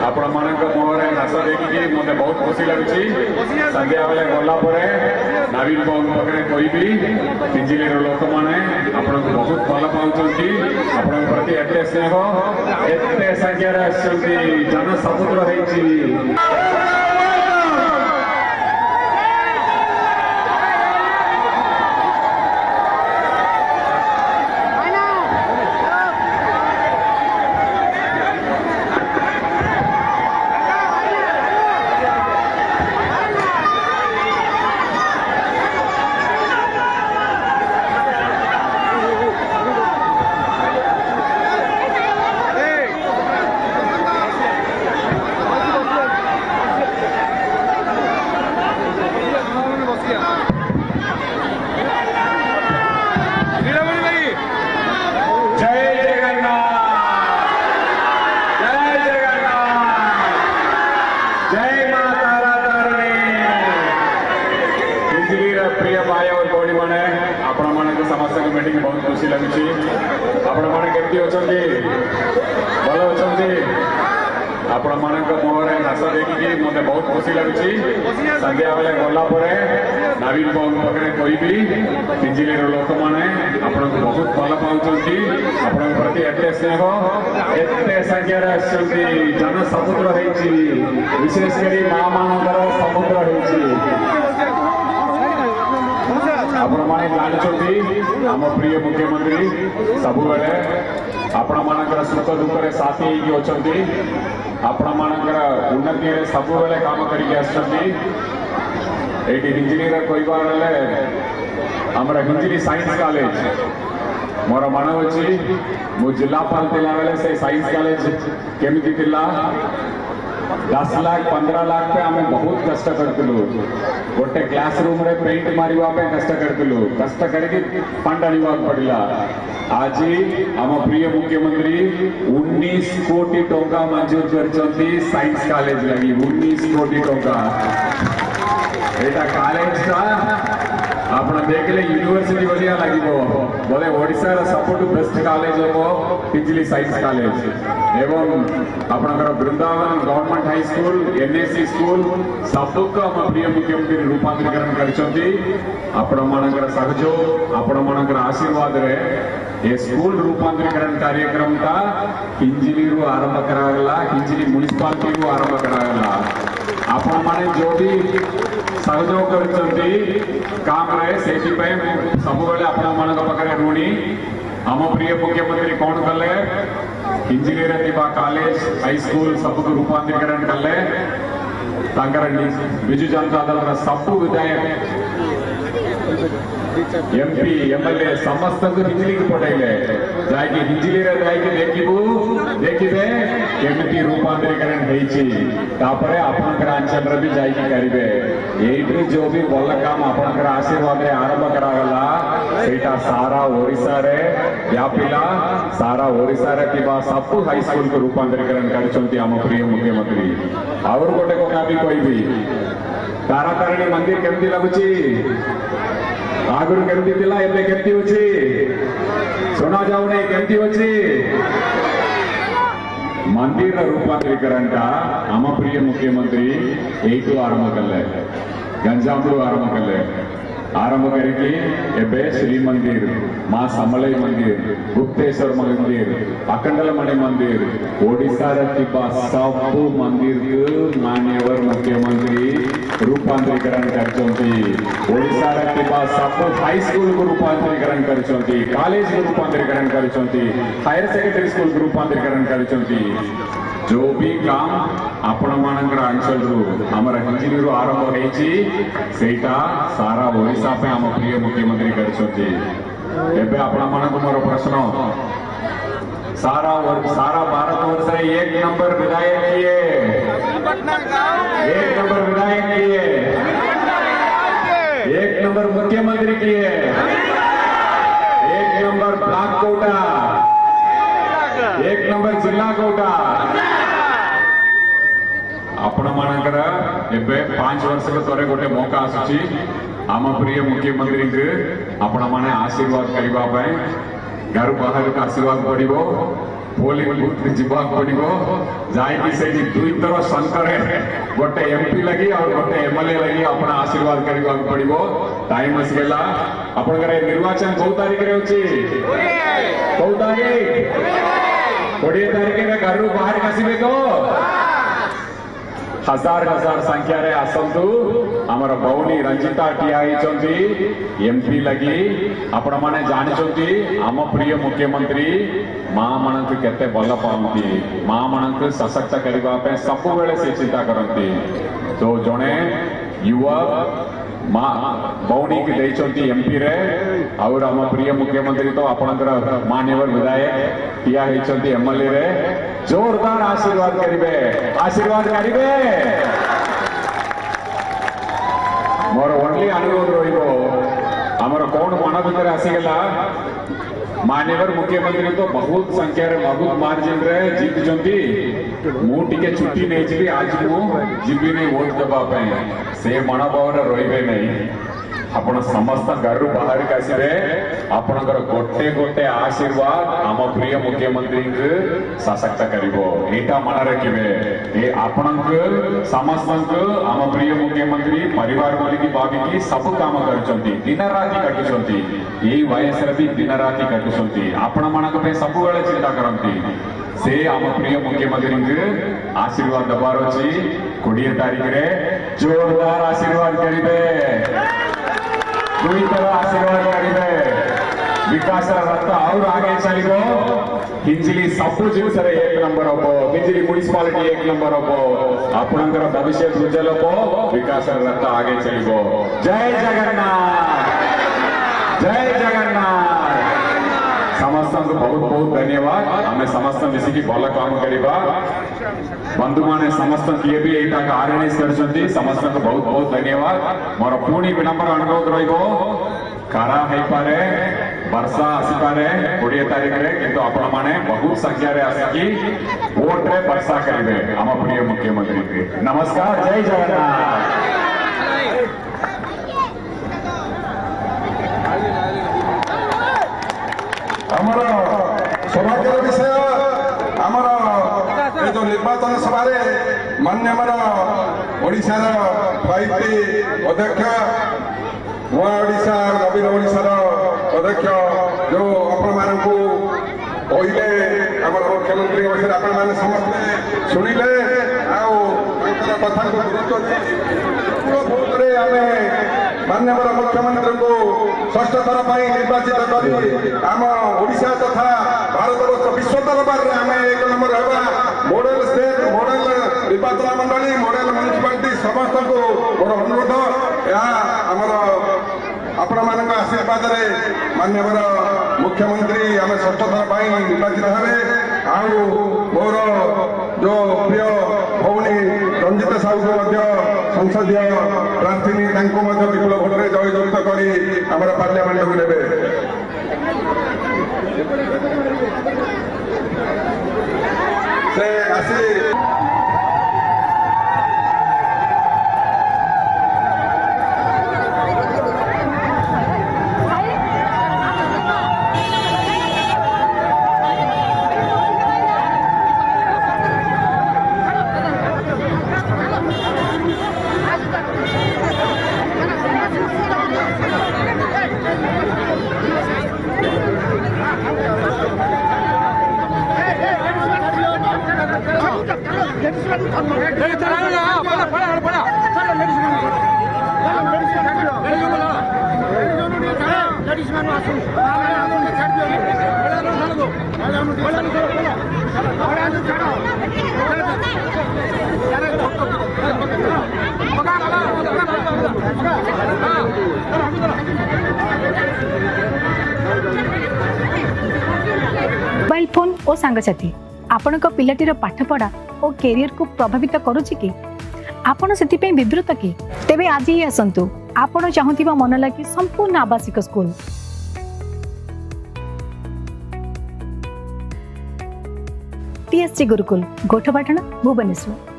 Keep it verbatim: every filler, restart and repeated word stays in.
ଆପଣମାନଙ୍କ ମୁହଁରେ ହସ ଦେଖିକି ମୋତେ ବହୁତ ଖୁସି ଲାଗୁଛି। ସନ୍ଧ୍ୟାବେଳେ ଗଲା ପରେ ନବୀନ ବାବୁଙ୍କ ପାଖରେ କହିବି, ହିଞ୍ଜିଳିର ଲୋକମାନେ ଆପଣଙ୍କୁ ବହୁତ ଭଲ ପାଉଛନ୍ତି, ଆପଣଙ୍କ ପ୍ରତି ଏତେ ସ୍ନେହ, ଏତେ ସଂଖ୍ୟାରେ ଆସିଛନ୍ତି, ଜନସମୁଦ୍ର ହେଇଛି। ଜୟ ଜଗନ୍ନାଥ, ଜୟ ଜଗନ୍ନାଥ, ଜୟ ମା ତାରା ତାରିଣୀ। ହିଞ୍ଜିଳିର ପ୍ରିୟ ଭାଇ और ଭଉଣୀମାନେ, ଆପଣମାନଙ୍କୁ ସମସ୍ତଙ୍କୁ ଭେଟିକି ବହୁତ ଖୁସି ଲାଗୁଛି। ଆପଣମାନେ କେମିତି ଅଛନ୍ତି? ଭଲ ଅଛନ୍ତି? ଆପଣମାନଙ୍କ ମୁହଁରେ ହସ ଦେଖିକି ମୋତେ ବହୁତ ଖୁସି ଲାଗୁଛି। ସନ୍ଧ୍ୟାବେଳେ ଗଲା ପରେ ନବୀନ ବାବୁଙ୍କ ପାଖରେ କହିବି, ହିଞ୍ଜିଳିର ଲୋକମାନେ ଆପଣଙ୍କୁ ବହୁତ ଭଲ ପାଉଛନ୍ତି, ଆପଣଙ୍କ ପ୍ରତି ଏତେ ସ୍ନେହ, ଏତେ ସଂଖ୍ୟାରେ ଆସିଛନ୍ତି, ଜନସମୁଦ୍ର ହେଇଛି, ବିଶେଷ କରି ମା ମାନଙ୍କର ସମୁଦ୍ର ହେଇଛି। ଆପଣମାନେ ଜାଣିଛନ୍ତି, ଆମ ପ୍ରିୟ ମୁଖ୍ୟମନ୍ତ୍ରୀ ସବୁବେଳେ ଆପଣମାନଙ୍କର ସୁଖ ଦୁଃଖରେ ସାଥୀ ହେଇକି ଅଛନ୍ତି, ଆପଣମାନଙ୍କର ଉନ୍ନତିରେ ସବୁବେଳେ କାମ କରିକି ଆସିଛନ୍ତି। ଏଇଠି ହିଞ୍ଜିଳିର କହିବାର ହେଲେ ଆମର ହିଞ୍ଜିଳି ସାଇନ୍ସ କଲେଜ, ମୋର ମନେ ଅଛି ମୁଁ ଜିଲ୍ଲାପାଳ ଥିଲାବେଳେ ସେ ସାଇନ୍ସ କଲେଜ କେମିତି ଥିଲା। ଦଶ ଲାଖ ପନ୍ଦର ଲାଖ ପାଇଁ ଆମେ ବହୁତ କଷ୍ଟ କରିଥିଲୁ। ଗୋଟେ କ୍ଲାସ ରୁମରେ ପେଣ୍ଟ ମାରିବା ପାଇଁ କଷ୍ଟ କରିଥିଲୁ, କଷ୍ଟ କରିକି ଫଣ୍ଡ ଆଣିବାକୁ ପଡ଼ିଲା। ଆଜି ଆମ ପ୍ରିୟ ମୁଖ୍ୟମନ୍ତ୍ରୀ ଉଣେଇଶ କୋଟି ଟଙ୍କା ମଞ୍ଜୁର କରିଛନ୍ତି ସାଇନ୍ସ କଲେଜ ଲାଗି। ଉଣେଇଶ କୋଟି ଟଙ୍କା। ଏଇଟା କଲେଜଟା ଆପଣ ଦେଖିଲେ ୟୁନିଭର୍ସିଟି ଭଳିଆ ଲାଗିବ ବୋଲେ। ଓଡ଼ିଶାର ସବୁଠୁ ବେଷ୍ଟ କଲେଜ ହେବ ହିଞ୍ଜିଳି ସାଇନ୍ସ କଲେଜ। ଏବଂ ଆପଣଙ୍କର Vrindavan government high school, NAC school ସବୁକୁ ଆମ ପ୍ରିୟ ମୁଖ୍ୟମନ୍ତ୍ରୀ ରୂପାନ୍ତରୀକରଣ କରିଛନ୍ତି। ଆପଣମାନଙ୍କର ସହଯୋଗ, ଆପଣମାନଙ୍କର ଆଶୀର୍ବାଦରେ ଏ ସ୍କୁଲ ରୂପାନ୍ତରୀକରଣ କାର୍ଯ୍ୟକ୍ରମଟା ହିଞ୍ଜିଳିରୁ ଆରମ୍ଭ କରାଗଲା, ହିଞ୍ଜିଳି ମ୍ୟୁନିସିପାଲିଟିରୁ ଆରମ୍ଭ କରାଗଲା। ଆପଣମାନେ ଯୋଉ ବି ସହଯୋଗ କରିଛନ୍ତି କାମରେ, ସେଇଥିପାଇଁ ମୁଁ ସବୁବେଳେ ଆପଣମାନଙ୍କ ପାଖରେ ଋଣୀ। ଆମ ପ୍ରିୟ ମୁଖ୍ୟମନ୍ତ୍ରୀ କ'ଣ କଲେ? ହିଞ୍ଜିଳିରେ ଥିବା କଲେଜ, ହାଇସ୍କୁଲ ସବୁକୁ ରୂପାନ୍ତରୀକରଣ କଲେ। ତାଙ୍କର ବିଜୁ ଜନତା ଦଳର ସବୁ ବିଧାୟକ, ଏମପି, ଏମଏଲଏ ସମସ୍ତଙ୍କୁ ହିଞ୍ଜିଳିକୁ ପଠେଇଲେ। ଯାଇକି ହିଞ୍ଜିଳିରେ ଯାଇକି ଦେଖିବୁ ଦେଖିବେ କେମିତି ରୂପାନ୍ତରୀକରଣ ହେଇଛି। ତାପରେ ଆପଣଙ୍କର ଅଞ୍ଚଳରେ ବି ଯାଇକି କରିବେ। ଏଇଠୁ ଯୋଉ ବି ଭଲ କାମ ଆପଣଙ୍କର ଆଶୀର୍ବାଦରେ ଆରମ୍ଭ କରାଗଲା, ସେଇଟା ସାରା ଓଡ଼ିଶାରେ ବ୍ୟାପିଲା। ସାରା ଓଡ଼ିଶାରେ ଥିବା ସବୁ ହାଇସ୍କୁଲକୁ ରୂପାନ୍ତରୀକରଣ କରିଛନ୍ତି ଆମ ପ୍ରିୟ ମୁଖ୍ୟମନ୍ତ୍ରୀ। ଆହୁରି ଗୋଟେ କଥା ବି କହିବି, ତାରାତାରିଣୀ ମନ୍ଦିର କେମିତି ଲାଗୁଛି? ଆଗରୁ କେମିତି ଥିଲା, ଏବେ କେମିତି ଅଛି? ଶୁଣା ଯାଉନି, କେମିତି ଅଛି? ମନ୍ଦିରର ରୂପାନ୍ତରୀକରଣଟା ଆମ ପ୍ରିୟ ମୁଖ୍ୟମନ୍ତ୍ରୀ ଏଇଠୁ ଆରମ୍ଭ କଲେ, ଗଞ୍ଜାମରୁ ଆରମ୍ଭ କଲେ। ଆରମ୍ଭ କରିକି ଏବେ ଶ୍ରୀମନ୍ଦିର, ମା ସମଲେଇ ମନ୍ଦିର, ଗୁପ୍ତେଶ୍ୱର ମନ୍ଦିର, ଅଖଣ୍ଡଳମଣି ମନ୍ଦିର, ଓଡ଼ିଶାରେ ଥିବା ସବୁ ମନ୍ଦିରକୁ ମାନ୍ୟବର ମୁଖ୍ୟମନ୍ତ୍ରୀ ରୂପାନ୍ତରୀକରଣ କରିଛନ୍ତି। ଓଡ଼ିଶାରେ ଥିବା ସବୁ ହାଇସ୍କୁଲକୁ ରୂପାନ୍ତରୀକରଣ କରିଛନ୍ତି, କଲେଜକୁ ରୂପାନ୍ତରୀକରଣ କରିଛନ୍ତି, ହାୟର ସେକେଣ୍ଡାରୀ ସ୍କୁଲକୁ ରୂପାନ୍ତରୀକରଣ କରିଛନ୍ତି। ଯୋଉ ବି କାମ ଆପଣମାନଙ୍କର ଅଞ୍ଚଳରୁ, ଆମର ହିଞ୍ଜିଳିରୁ ଆରମ୍ଭ ହେଇଛି, ସେଇଟା ସାରା ଓଡ଼ିଶା ପାଇଁ ଆମ ପ୍ରିୟ ମୁଖ୍ୟମନ୍ତ୍ରୀ କରିଛନ୍ତି। ଏବେ ଆପଣମାନଙ୍କୁ ମୋର ପ୍ରଶ୍ନ, ସାରା ସାରା ଭାରତ ବର୍ଷରେ ଏକ ନମ୍ବର ବିଧାୟକ କିଏ? ଏକ ନମ୍ବର ବିଧାୟକ କିଏ? ଏକ ନମ୍ବର ମୁଖ୍ୟମନ୍ତ୍ରୀ କିଏ? ଏକ ନମ୍ବର ବ୍ଲକ କୋଉଟା? ଏକ ନମ୍ବର ଜିଲ୍ଲା କୋଉଟା? ଆପଣମାନଙ୍କର ଏବେ ପାଞ୍ଚ ବର୍ଷକୁ ଥରେ ଗୋଟେ ମୌକା ଆସୁଛି ଆମ ପ୍ରିୟ ମୁଖ୍ୟମନ୍ତ୍ରୀଙ୍କୁ ଆପଣମାନେ ଆଶୀର୍ବାଦ କରିବା ପାଇଁ ଘରୁ ବାହାରକୁ ଆସିବାକୁ ପଡ଼ିବ। ପୋଲିଂ ବୁଥ ଯିବାକୁ ପଡିବ। ଯାଇକି ସେଇଠି ଦୁଇଥର ଶଙ୍ଖରେ ଗୋଟେ ଏମପି ଲାଗି ଆଉ ଗୋଟେ ଏମଏଲଏ ଲାଗି ଆପଣ ଆଶୀର୍ବାଦ କରିବାକୁ ପଡିବ। ଟାଇମ ଆସିଗଲା। ଆପଣଙ୍କର ଏ ନିର୍ବାଚନ କୋଉ ତାରିଖରେ ଅଛି? କୋଉ ତାରିଖ? କୋଡ଼ିଏ ତାରିଖରେ। ଘରୁ ବାହାରିକି ଆସିବେ ତ? ହଜାର ହଜାର ସଂଖ୍ୟାରେ ଆସନ୍ତୁ। ଆମର ଭଉଣୀ ରଞ୍ଜିତା ଠିଆ ହେଇଛନ୍ତି ଏମପି ଲାଗି। ଆପଣମାନେ ଜାଣିଛନ୍ତି ଆମ ପ୍ରିୟ ମୁଖ୍ୟମନ୍ତ୍ରୀ ମା ମାନଙ୍କୁ କେତେ ଭଲ ପାଆନ୍ତି। ମା ମାନଙ୍କୁ ସଶକ୍ତ କରିବା ପାଇଁ ସବୁବେଳେ ସେ ଚିନ୍ତା କରନ୍ତି। ତ ଜଣେ ୟୁବା ମା ଭଉଣୀକି ଦେଇଛନ୍ତି ଏମପିରେ। ଆଉ ଆମ ପ୍ରିୟ ମୁଖ୍ୟମନ୍ତ୍ରୀ ତ ଆପଣଙ୍କର ମାନ୍ୟବର ବିଧାୟକ ଠିଆ ହେଇଛନ୍ତି ଏମଏଲଏ ରେ। ଜୋରଦାର ଆଶୀର୍ବାଦ କରିବେ, ଆଶୀର୍ବାଦ କରିବେ। ମୋର ଓନ୍ଲି ଅନୁରୋଧ ରହିବ, ଆମର କଣ ମନ ଭିତରେ ଆସିଗଲା, ମାନ୍ୟବର ମୁଖ୍ୟମନ୍ତ୍ରୀ ତ ବହୁତ ସଂଖ୍ୟାରେ, ବହୁତ ମାର୍ଜିନରେ ଜିତିଛନ୍ତି, ମୁଁ ଟିକେ ଛୁଟି ନେଇଯିବି, ଆଜି ମୁଁ ଯିବିନି ଭୋଟ ଦେବା ପାଇଁ, ସେ ମନୋଭାବରେ ରହିବେ ନାହିଁ। ଆପଣ ସମସ୍ତ ଘରୁ ବାହାରିକି ଆସିବେ। ଆପଣଙ୍କର ଗୋଟେ ଗୋଟେ ଆଶୀର୍ବାଦ ଆମ ପ୍ରିୟ ମୁଖ୍ୟମନ୍ତ୍ରୀଙ୍କୁ ସଶକ୍ତ କରିବ, ଏଇଟା ମନେ ରଖିବେ। ଏ ଆପଣଙ୍କୁ ସମସ୍ତଙ୍କୁ ଆମ ପ୍ରିୟ ମୁଖ୍ୟମନ୍ତ୍ରୀ ପରିବାର ବୋଲିକି ଭାବିକି ସବୁ କାମ କରୁଛନ୍ତି, ଦିନ ରାତି କାଟୁଛନ୍ତି। ଏଇ ବୟସରେ ବି ଦିନ ରାତି କାଟୁଛନ୍ତି, ଆପଣମାନଙ୍କ ପାଇଁ ସବୁବେଳେ ଚିନ୍ତା କରନ୍ତି। ସେ ଆମ ପ୍ରିୟ ମୁଖ୍ୟମନ୍ତ୍ରୀଙ୍କୁ ଆଶୀର୍ବାଦ ଦେବାର ଅଛି। କୋଡ଼ିଏ ତାରିଖରେ ଜୋରଦାର ଆଶୀର୍ବାଦ କରିବେ, ଦୁଇଥର ଆଶୀର୍ବାଦ କରିବେ। ବିକାଶର ରଥ ଆହୁରି ଆଗେ ଚାଲିବ। ହିଞ୍ଜିଲି ସବୁ ଜିନିଷରେ ଏକ ନମ୍ବର ହବ, ହିଞ୍ଜିଲି ମ୍ୟୁନିସିପାଲିଟି ଏକ ନମ୍ବର ହବ, ଆପଣଙ୍କର ଭବିଷ୍ୟତ ଉଜ୍ଜଳ ହବ, ବିକାଶର ରଥ ଆଗେ ଚାଲିବ। ଜୟ ଜଗନ୍ନାଥ, ଜୟ ଜଗନ୍ନାଥ। ସମସ୍ତଙ୍କୁ ବହୁତ ବହୁତ ଧନ୍ୟବାଦ। ଆମେ ସମସ୍ତେ ମିଶିକି ଭଲ କାମ କରିବା। ବନ୍ଧୁମାନେ ସମସ୍ତ କିଏ ବି ଏଇଟାକୁ ଅର୍ଗାନାଇଜ କରିଛନ୍ତି, ସମସ୍ତଙ୍କୁ ବହୁତ ବହୁତ ଧନ୍ୟବାଦ। ମୋର ପୁଣି ବିନମ୍ର ଅନୁରୋଧ ରହିବ, ଖରା ହେଇପାରେ, ବର୍ଷା ଆସିପାରେ କୋଡ଼ିଏ ତାରିଖରେ, କିନ୍ତୁ ଆପଣମାନେ ବହୁତ ସଂଖ୍ୟାରେ ଆସିକି ଭୋଟରେ ବର୍ଷା କରିବେ ଆମ ପ୍ରିୟ ମୁଖ୍ୟମନ୍ତ୍ରୀଙ୍କୁ। ନମସ୍କାର, ଜୟ ଜଗନ୍ନାଥ। ଆମର ସୌଭାଗ୍ୟର ବିଷୟ, ଆମର ଏ ଯୋଉ ନିର୍ବାଚନ ସଭାରେ ମାନ୍ୟବର ଓଡ଼ିଶାର ଫାଇଭ ଟି ଅଧ୍ୟକ୍ଷ, ନୂଆ ଓଡ଼ିଶା ନବୀନ ଓଡ଼ିଶାର ଅଧ୍ୟକ୍ଷ, ଯୋଉ ଆପଣମାନଙ୍କୁ କହିଲେ ଆମର ମୁଖ୍ୟମନ୍ତ୍ରୀଙ୍କ ବିଷୟରେ, ଆପଣମାନେ ସମସ୍ତେ ଶୁଣିଲେ ଆଉ ତାଙ୍କର କଥାକୁ ଗୁରୁତ୍ୱ ଦେଇ ଭୋଟରେ ଆମେ ମାନ୍ୟବର ମୁଖ୍ୟମନ୍ତ୍ରୀଙ୍କୁ ଷଷ୍ଠ ଥର ପାଇଁ ନିର୍ବାଚିତ କରି ଆମ ଓଡ଼ିଶା ତଥା ଭାରତବର୍ଷ ବିଶ୍ୱ ଦରବାରରେ ଆମେ ଏକ ନମ୍ବର ହେବା। ମଡେଲ ଷ୍ଟେଟ୍, ମଡେଲ ନିର୍ବାଚନ ମଣ୍ଡଳୀ, ମଡେଲ ମ୍ୟୁନିସିପାଲିଟି, ସମସ୍ତଙ୍କୁ ମୋର ଅନୁରୋଧ। ଏହା ଆମର ଆପଣମାନଙ୍କ ଆଶୀର୍ବାଦରେ ମାନ୍ୟବର ମୁଖ୍ୟମନ୍ତ୍ରୀ ଆମେ ଷଷ୍ଠ ଥର ପାଇଁ ନିର୍ବାଚିତ ହେବେ। ଆଉ ମୋର ଯୋଉ ପ୍ରିୟ ଭଉଣୀ ରଞ୍ଜିତା ସାହୁକୁ ମଧ୍ୟ ସଂସଦୀୟ ପ୍ରାର୍ଥିନୀ, ତାଙ୍କୁ ମଧ୍ୟ ବିପୁଳ ଭୋଟରେ ଜୟଯୁକ୍ତ କରି ଆମର ପାର୍ଲାମେଣ୍ଟକୁ ନେବେ। ସେ ଆସି ମୋବାଇଲ ଫୋନ୍ ଓ ସାଙ୍ଗସାଥି ଆପଣଙ୍କ ପିଲାଟିର ପାଠପଢ଼ା ଓ କ୍ୟାରିୟରକୁ ପ୍ରଭାବିତ କରୁଛି କି? ଆପଣ ସେଥିପାଇଁ ବିବ୍ରତ କି? ତେବେ ଆଜି ହିଁ ଆସନ୍ତୁ ଆପଣ ଚାହୁଁଥିବା ମନ ଲାଗି ସମ୍ପୂର୍ଣ୍ଣ ଆବାସିକ ସ୍କୁଲ, ଟିଏସଜି ଗୁରୁକୁଲ, ଗୋଠପାଟଣା, ଭୁବନେଶ୍ୱର।